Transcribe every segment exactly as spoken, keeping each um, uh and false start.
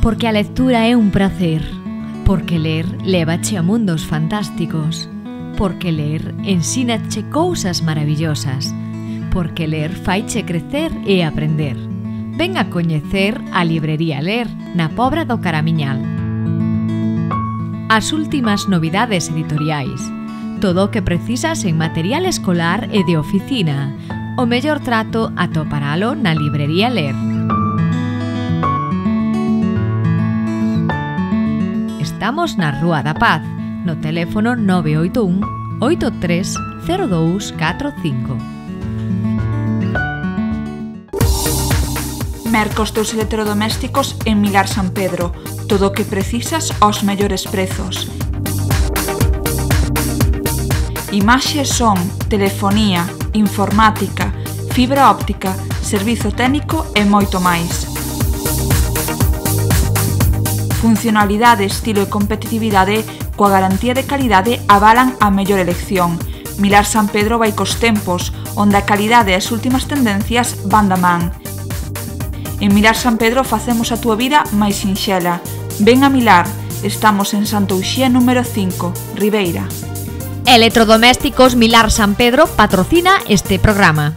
Porque a lectura é un prazer. Porque ler lévache a mundos fantásticos. Porque ler ensínache cousas maravillosas. Porque ler faiche crecer e aprender. Ven a coñecer a Librería Ler na Pobra do Caramiñal. As últimas novidades editoriais. Todo o que precisas en material escolar e de oficina. O mellor trato atoparalo na Librería Ler. Estamos na Rúa da Paz, no teléfono nove oito un, oito tres cero dous catro cinco. Mercos dos electrodomésticos en Milar San Pedro. Todo o que precisas aos mellores prezos. Imaxe, son, telefonía, informática, fibra óptica, servizo técnico e moito máis. Funcionalidade, estilo e competitividade coa garantía de calidade avalan a mellor elección. Milar San Pedro vai cos tempos, onde a calidade e as últimas tendencias van da man. En Milar San Pedro facemos a túa vida máis sinxela. Ven a Milar, estamos en Santa Uxía número cinco, Ribeira. Electrodomésticos Milar San Pedro patrocina este programa.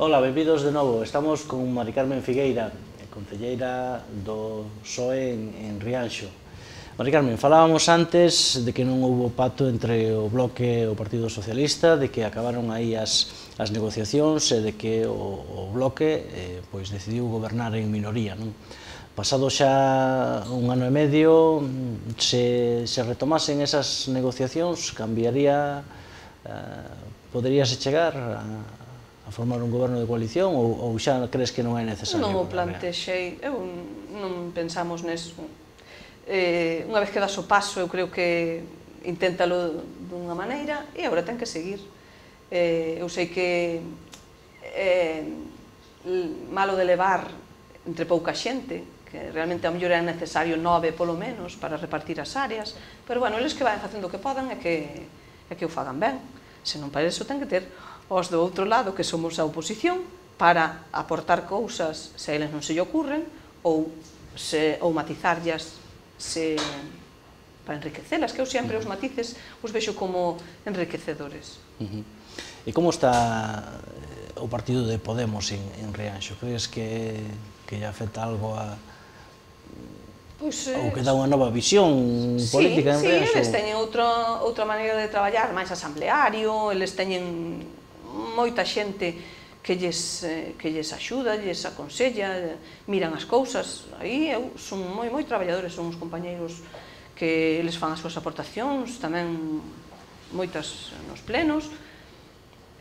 Hola, benvidos de novo. Estamos con Mari Carmen Figueira, concelleira do P S O E en, en Rianxo. Mari Carmen, falábamos antes de que non houbo pacto entre o Bloque e o Partido Socialista, de que acabaron aí as, as negociacións e de que o, o Bloque eh, pois decidiu gobernar en minoría, non? Pasado xa un ano e medio, se, se retomasen esas negociacións, cambiaría, eh, poderíase chegar a, a formar un goberno de coalición ou, ou xa crees que non é necesario? Non o plantexei, eu non pensamos neso. Eh, unha vez que das o paso, eu creo que inténtalo dunha maneira e agora ten que seguir. Eh, eu sei que é malo de levar entre pouca xente, que realmente a mellor é necesario nove polo menos para repartir as áreas, pero bueno, eles que van facendo o que podan é que, é que o fagan ben. Se non para iso ten que ter os do outro lado, que somos a oposición, para aportar cousas se a eles non se lle ocurren ou, se, ou matizarllas se, para enriquecelas, que eu sempre os matices os vexo como enriquecedores. Uh-huh. E como está o partido de Podemos en, en Rianxo? Crees que, que lle afecta algo a... Pois, eh, ou que dá unha nova visión sí, política en sí, Rianxo? Sí, eles teñen outra, outra maneira de traballar, máis asambleario, eles teñen moita xente que lles, que lles axuda, lles aconsella, miran as cousas. Aí eu son moi, moi traballadores, son os compañeiros que eles fan as súas aportacións, tamén moitas nos plenos.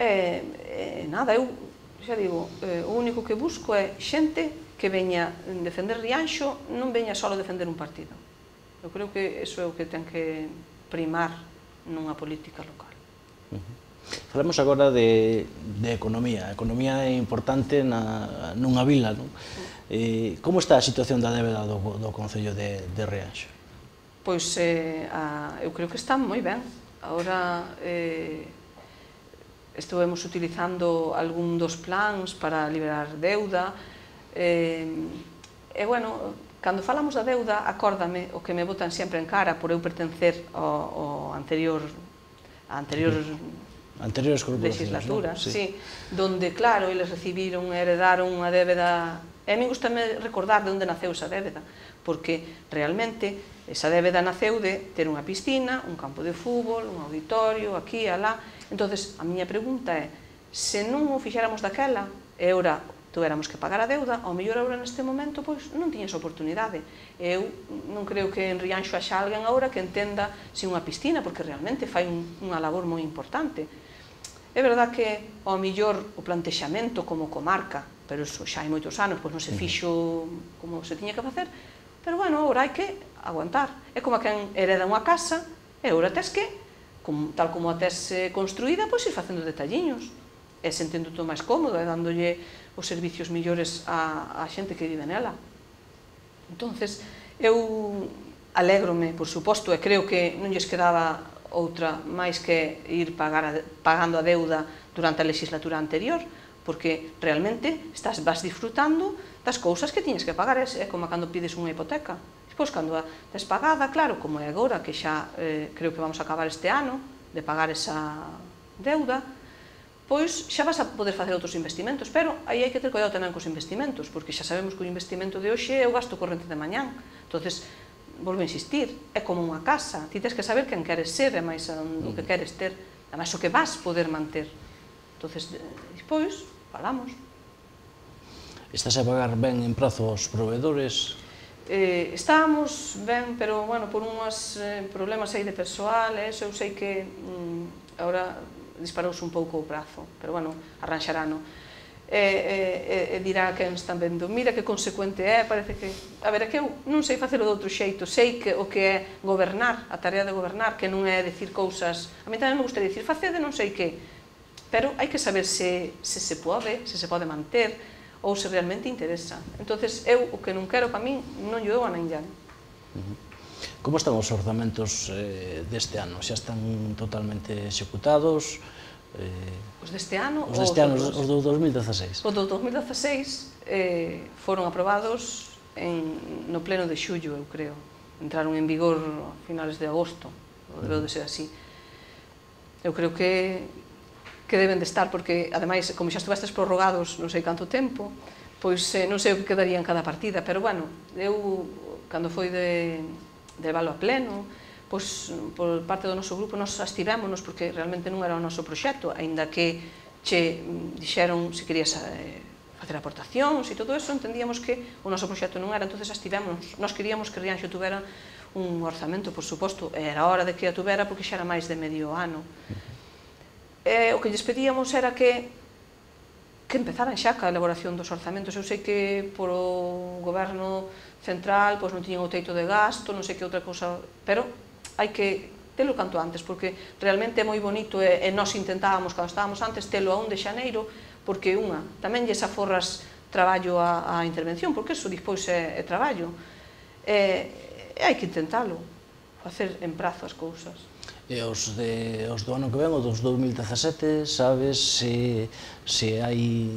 E, e nada, eu xa digo, eh, o único que busco é xente que veña defender Rianxo, non veña só defender un partido. Eu creo que iso é o que ten que primar nunha política local. Uh-huh. Falamos agora de, de economía. A economía é importante na, nunha vila, non? Eh, como está a situación da débeda do, do Concello de, de Rianxo? Pois eh, a, eu creo que está moi ben. Agora eh, estuvemos utilizando algún dos plans para liberar deuda. Eh, e, bueno, cando falamos da deuda, acórdame o que me botan sempre en cara por eu pertencer ao, ao anterior, a anterior anteriores legislaturas, ¿no? Sí. Sí, donde, claro, eles recibiron e heredaron unha débeda, e a mí gustame recordar de onde naceu esa débeda, porque realmente esa débeda naceu de ter unha piscina, un campo de fútbol, un auditorio, aquí, alá. Entonces, a miña pregunta é, se non o fixéramos daquela, e ora tuéramos que pagar a deuda, ao mellor agora neste momento pois non tiñas oportunidade. Eu non creo que en Rianxo haxa alguén agora que entenda se unha piscina, porque realmente fai un, unha labor moi importante. É verdad que ao mellor o plantexamento como comarca, pero iso xa hai moitos anos, pois non se fixo como se tiña que facer, pero bueno, agora hai que aguantar. É como a quen hereda unha casa, e agora tes que, como, tal como a tes construída, pois ir facendo detalliños, e sentendo todo máis cómodo, e dándolle os servicios millores á, á xente que vive nela. Entonces, eu alégrome, por suposto, e creo que non lles quedaba outra máis que ir pagando a deuda durante a legislatura anterior, porque realmente estás vas disfrutando das cousas que tiñes que pagar, é como cando pides unha hipoteca. Despois, cando a tes pagada, claro, como é agora, que xa creo que vamos a acabar este ano de pagar esa deuda, pois xa vas a poder facer outros investimentos, pero aí hai que ter cuidado tamén cos investimentos, porque xa sabemos que o investimento de hoxe é o gasto corrente de mañán. Entonces, volvo a insistir, é como unha casa, ti tens que saber quen queres ser e máis o que queres ter, e máis o que vas poder manter. Entonces, despois, falamos. Estás a pagar ben en prazo aos proveedores? Eh, estábamos ben, pero, bueno, por unhas eh, problemas aí de persoal, e eso eu sei que mm, agora disparouse un pouco o prazo, pero, bueno, arranxarano. E, e, e dirá quen están vendo, mira que consecuente é, parece que... A ver, é que eu non sei facelo de outro xeito, sei que o que é gobernar, a tarea de gobernar, que non é dicir cousas... A mí tamén me gustaría dicir, facede non sei que, pero hai que saber se, se se pode, se se pode manter, ou se realmente interesa. Entonces, eu o que non quero para min non lle dou a ninguén. Como están os orzamentos eh, deste ano? Xa están totalmente executados? Eh, os deste ano os deste ano, os do dos mil dezaseis? Os do dos mil dezaseis eh, foron aprobados en, no pleno de xullo, eu creo. Entraron en vigor a finales de agosto, debeu de ser así. Eu creo que que deben de estar, porque, ademais, como xa estuvestes prorrogados non sei canto tempo, pois eh, non sei o que quedaría en cada partida, pero, bueno, eu, cando foi de, de valo a pleno, pois, por parte do noso grupo, nos abstivémonos, porque realmente non era o noso proxecto, aínda que che dixeron se querías eh, facer aportacións e todo eso, entendíamos que o noso proxecto non era, entonces abstivémonos. Nos queríamos que Rianxo tuvera un orzamento, por suposto, era hora de que a tuvera, porque xa era máis de medio ano. E o que lles pedíamos era que que empezaran xa ca elaboración dos orzamentos. Eu sei que por o goberno central pois non tiñan o teito de gasto, non sei que outra cousa, pero hai que telo canto antes, porque realmente é moi bonito e, e nós intentábamos, cando estábamos antes, telo a un de xaneiro, porque unha, tamén lles aforras traballo a, a intervención, porque eso despois é, é traballo. E, e hai que intentalo, facer en prazo as cousas. E os, de, os do ano que ven, os dos dos mil dezasete, sabes se, se hai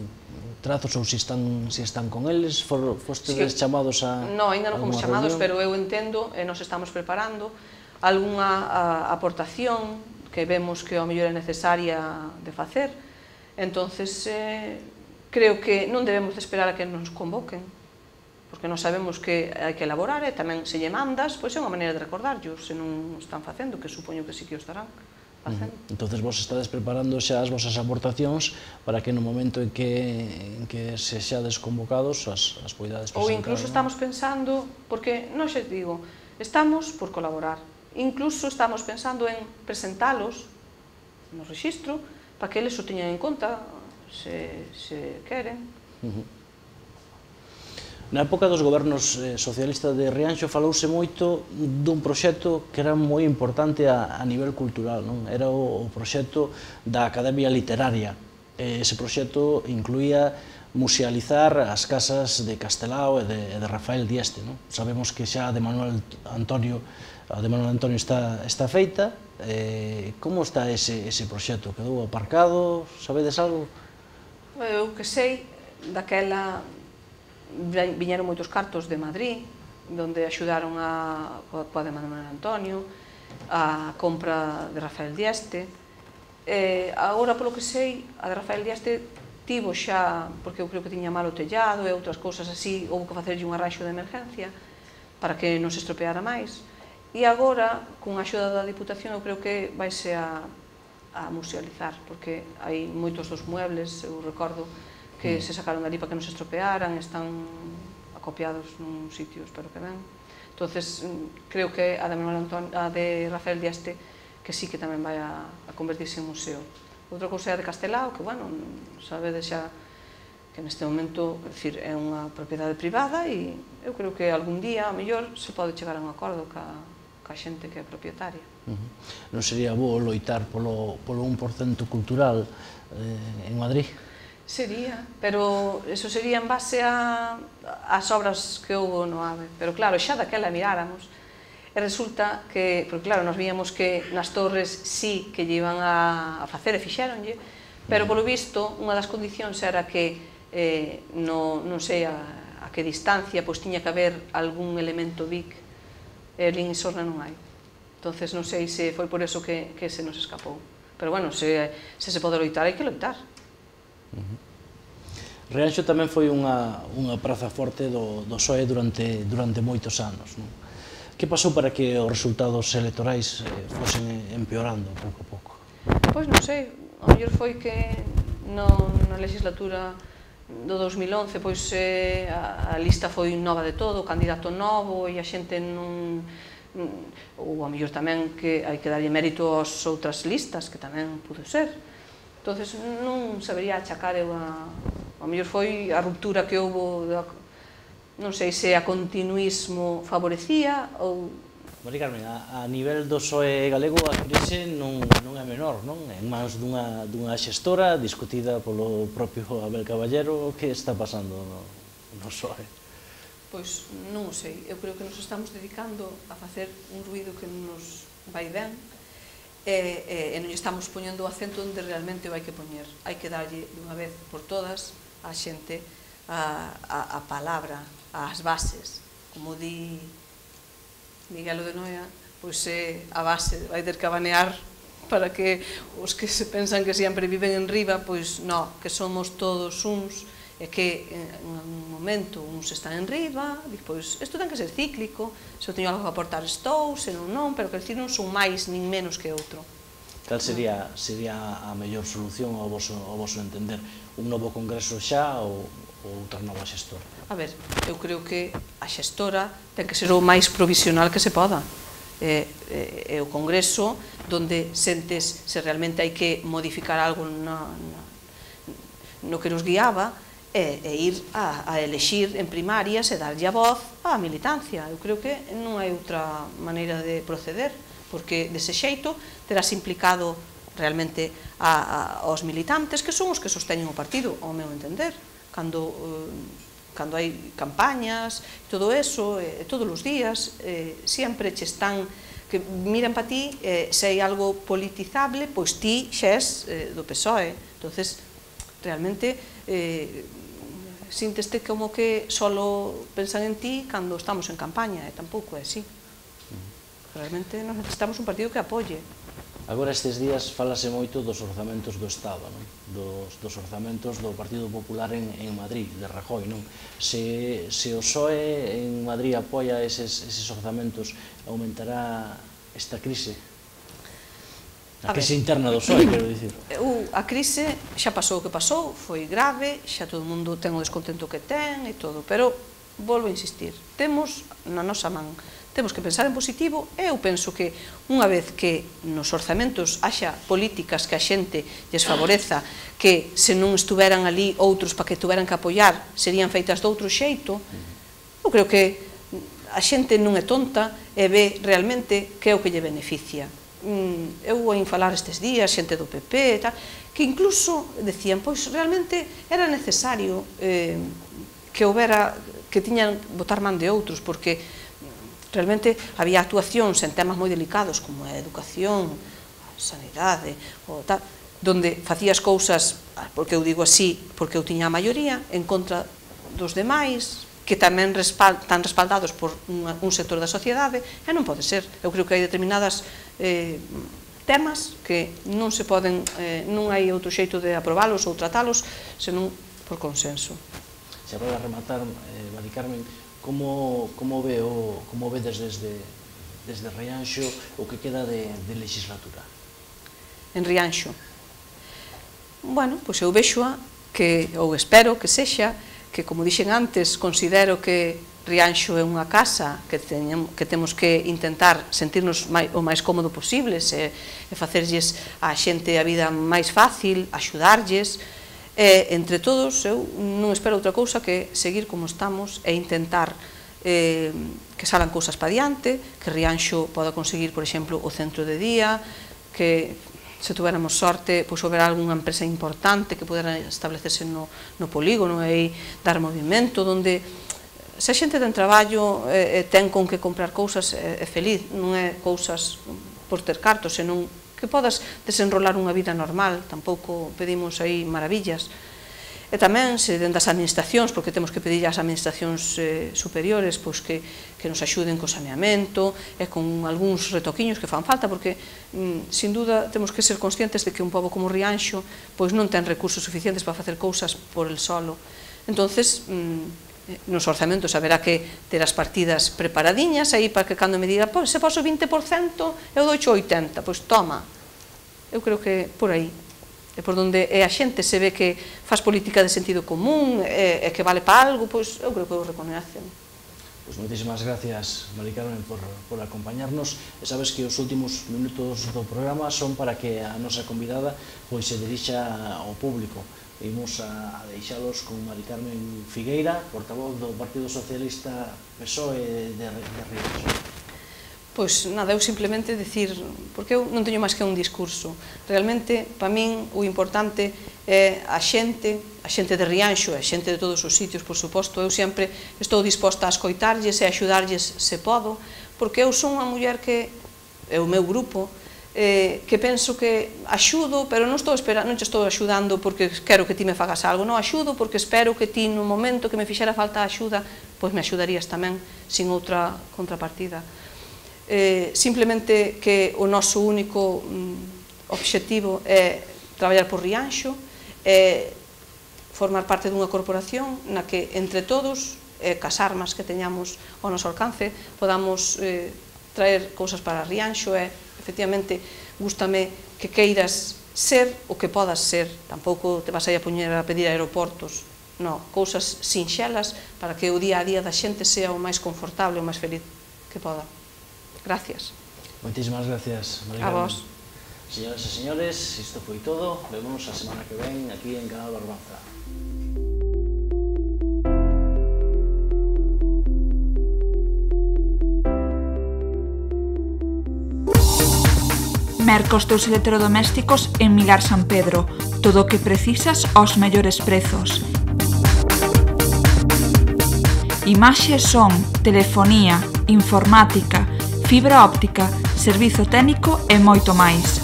trazos ou se están, se están con eles? For, fostedes sí, chamados a... Non, ainda non fomos chamados, reunión? Pero eu entendo, e nos estamos preparando, algunha aportación que vemos que ao mellor é necesaria de facer. Entonces, eh, creo que non debemos de esperar a que nos convoquen, porque non sabemos que hai que elaborar e tamén se lle mandas, pois é unha maneira de recordarllos, se non están facendo, que supoño que sí que o estarán facendo. Uh-huh. Entonces vos estades preparando xa as vosas aportacións para que no momento en que, en que se xa desconvocados as, as poidades presentar. Ou incluso ¿no? Estamos pensando, porque non xe digo, estamos por colaborar, incluso estamos pensando en presentalos no rexistro para que eles o teñan en conta se, se queren. Uh-huh. Na época dos gobernos socialistas de Rianxo falouse moito dun proxecto que era moi importante a, a nivel cultural, non? Era o, o proxecto da Academia Literaria. Ese proxecto incluía musealizar as casas de Castelao e de, de Rafael Dieste, non? Sabemos que xa a de Manuel Antonio, a de Manuel Antonio está, está feita. Eh, como está ese, ese proxecto? Quedou aparcado? Sabedes algo? Eu que sei, daquela viñeron moitos cartos de Madrid, onde axudaron a, a de Manuel Antonio, a compra de Rafael Dieste. E agora, polo que sei, a de Rafael Dieste tivo xa, porque eu creo que tiña malo tellado e outras cousas así, houve que facerlle un arranxo de emergencia para que non se estropeara máis. E agora, con a axuda da Diputación, eu creo que vaise a, a musealizar, porque hai moitos dos muebles, eu recordo, que se sacaron dali para que non se estropearan, están acopiados nun sitio, espero que ben. Entonces, creo que a de, Manuel Antonio, a de Rafael Dieste, que sí que tamén vai a, a convertirse en museo. Outra cousa é a de Castelao, que, bueno, sabedes xa que neste momento, é dicir, é unha propiedade privada e eu creo que algún día, a mellor, se pode chegar a un acordo ca, ca xente que é propietaria. Uh-huh. Non sería bo loitar polo, polo un por cento cultural eh, en Madrid? Sería, pero eso sería en base a, as obras que houve no AVE. Pero claro, xa daquela miráramos, E resulta que, porque claro, nos víamos que nas torres sí que lle iban a facer e fixéronlle, pero polo visto unha das condicións era que non sei a que distancia pois tiña que haber algún elemento V I C e en Isorna non hai. Entonces non sei se foi por eso que se nos escapou. Pero bueno, se se pode loitar, hai que loitar. Rianxo tamén foi unha praza forte do P S O E durante moitos anos. Que pasou para que os resultados electorais fosen empeorando pouco a pouco? Pois non sei, o mellor foi que na legislatura do dos mil once a lista foi nova de todo, o candidato novo e a xente non... ou a mellor tamén que hai que darlle mérito ás outras listas, que tamén pudo ser. Entón non sabería achacar eu a... a mellor foi a ruptura que houve, non sei se a continuismo favorecía ou... Mari Carmen, a nivel do P S O E galego a crise non é menor, non? En mans dunha xestora discutida polo propio Abel Caballero, que está pasando no P S O E? Pois non o sei, eu creo que nos estamos dedicando a facer un ruido que nos vai ben e non estamos poñendo o acento onde realmente o hai que poñer. Hai que darlle dunha vez por todas a xente a palabra, as bases, como di Miguel de Noia, pois é a base, vai ter que abanear para que os que se pensan que sempre viven en riba, pois non, que somos todos uns, e que en un momento uns están en riba, pois isto ten que ser cíclico, se eu teño algo que aportar estou, se non non, pero que decir non son máis nin menos que outro. Cal sería a mellor solución ao voso entender? Un novo congreso xa ou outra nova xestora? A ver, eu creo que a xestora ten que ser o máis provisional que se poda. É o congreso onde sentes se realmente hai que modificar algo no que nos guiaba e ir a elexir en primarias e darlle a voz á militancia. Eu creo que non hai outra maneira de proceder, porque dese xeito terás implicado realmente aos militantes que son os que sosteñen o partido, ao meu entender. Cando cando hai campañas, todo eso, todos os días, sempre che están, que miran para ti, se hai algo politizable, pois ti xa és do P S O E. Entonces, realmente, sínteste como que solo pensan en ti cando estamos en campaña, e tampouco é así. Realmente, nos necesitamos un partido que apoie. Agora estes días falase moito dos orzamentos do Estado, dos orzamentos do Partido Popular en Madrid, de Rajoy. Se o P S O E en Madrid apoia eses orzamentos, aumentará esta crise? A crise interna do P S O E, quero dicir. A crise xa pasou o que pasou, foi grave, xa todo o mundo ten o descontento que ten e todo, pero volvo a insistir, temos na nosa man, temos que pensar en positivo e eu penso que unha vez que nos orzamentos haxa políticas que a xente lles favoreza, que se non estuveran ali outros para que tuveran que apoiar serían feitas de outro xeito, eu creo que a xente non é tonta e ve realmente que é o que lle beneficia. Eu vou falar estes días, xente do P P, que incluso decían, pois realmente era necesario que houbera, que tiñan botar man de outros, porque realmente había actuacións en temas moi delicados como a educación, a sanidade, donde facías cousas, porque eu digo así, porque eu tiña a maioría, en contra dos demais, que tamén están respaldados por un sector da sociedade, e non pode ser. Eu creo que hai determinadas temas que non se poden, non hai outro xeito de aprobalos ou tratalos, senón por consenso. Xa para rematar, Mari Carmen, como vedes desde Rianxo o que queda de legislatura? En Rianxo? Bueno, pois eu vexoa que, ou espero que sexa, que como dixen antes, considero que Rianxo é unha casa que temos que intentar sentirnos o máis cómodo posible e facerlles a xente a vida máis fácil, axudarlles. E, entre todos, eu non espero outra cousa que seguir como estamos e intentar que salan cousas para diante, que Rianxo poda conseguir, por exemplo, o centro de día, que se tuveramos sorte, pois houbera algunha empresa importante que pudera establecerse no polígono e dar movimento, onde se a xente ten traballo e ten con que comprar cousas é feliz, non é cousas por ter cartos, senón que podas desenrolar unha vida normal, tampouco pedimos aí maravillas. E tamén se dende as administracións, porque temos que pedir ás administracións eh, superiores pois que, que nos axuden co saneamento e con algúns retoquiños que fan falta, porque mm, sin duda temos que ser conscientes de que un pobo como Rianxo pois non ten recursos suficientes para facer cousas por el solo. Entonces, mm, nos orzamentos haberá que ter as partidas preparadiñas aí para que cando me diga, pois se poso vinte por cento eu dou oitenta por cento, pois toma. Eu creo que por aí e por onde a xente se ve que faz política de sentido común e, e que vale para algo, pois eu creo que o reconhecen. Pois moitísimas gracias, Mari Carmen, por, por acompañarnos. E sabes que os últimos minutos do programa son para que a nosa convidada pois se dirixa ao público. Imos a, a deixalos con Mari Carmen Figueira, portavoz do Partido Socialista P S O E de, de Rianxo. Pois nada, eu simplemente dicir, porque eu non teño máis que un discurso. Realmente, para min, o importante é a xente, a xente de Rianxo, a xente de todos os sitios, por suposto. Eu sempre estou disposta a escoitarlles e a axudarlles se podo, porque eu son unha muller que, é o meu grupo, eh, que penso que axudo, pero non estou esperando, non te estou axudando porque quero que ti me fagas algo, non axudo porque espero que ti no momento que me fixera falta a axuda, pois me axudarías tamén, sin outra contrapartida. Eh, simplemente que o noso único mm, obxectivo é traballar por Rianxo, é formar parte dunha corporación na que entre todos, eh, cas armas que teñamos ao noso alcance, podamos eh, traer cousas para Rianxo e, efectivamente, gústame que queiras ser o que podas ser, tampouco te vas a ir a poñer a pedir aeroportos, non, cousas sinxelas para que o día a día da xente sea o máis confortable, o máis feliz que poda. Gracias. Moitísimas gracias, Mari A Carmen. vos. Señoras e señores, isto foi todo. Vémonos a semana que ven aquí en Canal Barbanza. Mercos teus electrodomésticos en Milar San Pedro. Todo o que precisas aos mellores prezos. Imaxe, son, telefonía, informática, fibra óptica, servizo técnico e moito máis.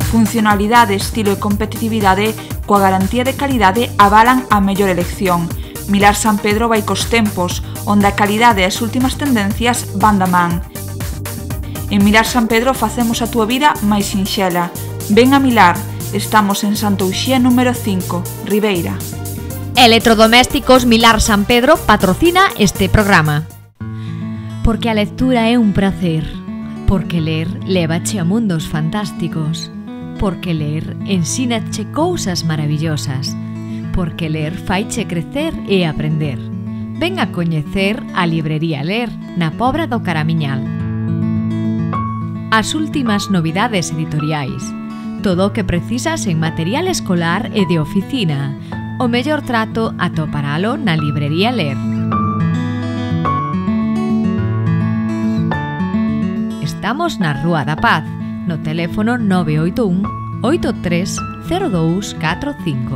Funcionalidade, estilo e competitividade coa garantía de calidade avalan a mellor elección. Milar San Pedro vai cos tempos, onde a calidade e as últimas tendencias van da man. En Milar San Pedro facemos a túa vida máis sinxela. Ven a Milar, estamos en Santa Uxía número cinco, Ribeira. Electrodomésticos Milar San Pedro patrocina este programa. Porque a lectura é un prazer, porque ler lévache a mundos fantásticos, porque ler ensínache cousas maravillosas, porque ler faiche crecer e aprender. Ven a coñecer a librería Ler na Pobra do Caramiñal. As últimas novidades editoriais, todo o que precisas en material escolar e de oficina, o mellor trato atoparalo na librería Ler. Estamos na Rúa da Paz, no teléfono nove oito un, oito tres cero dous catro cinco.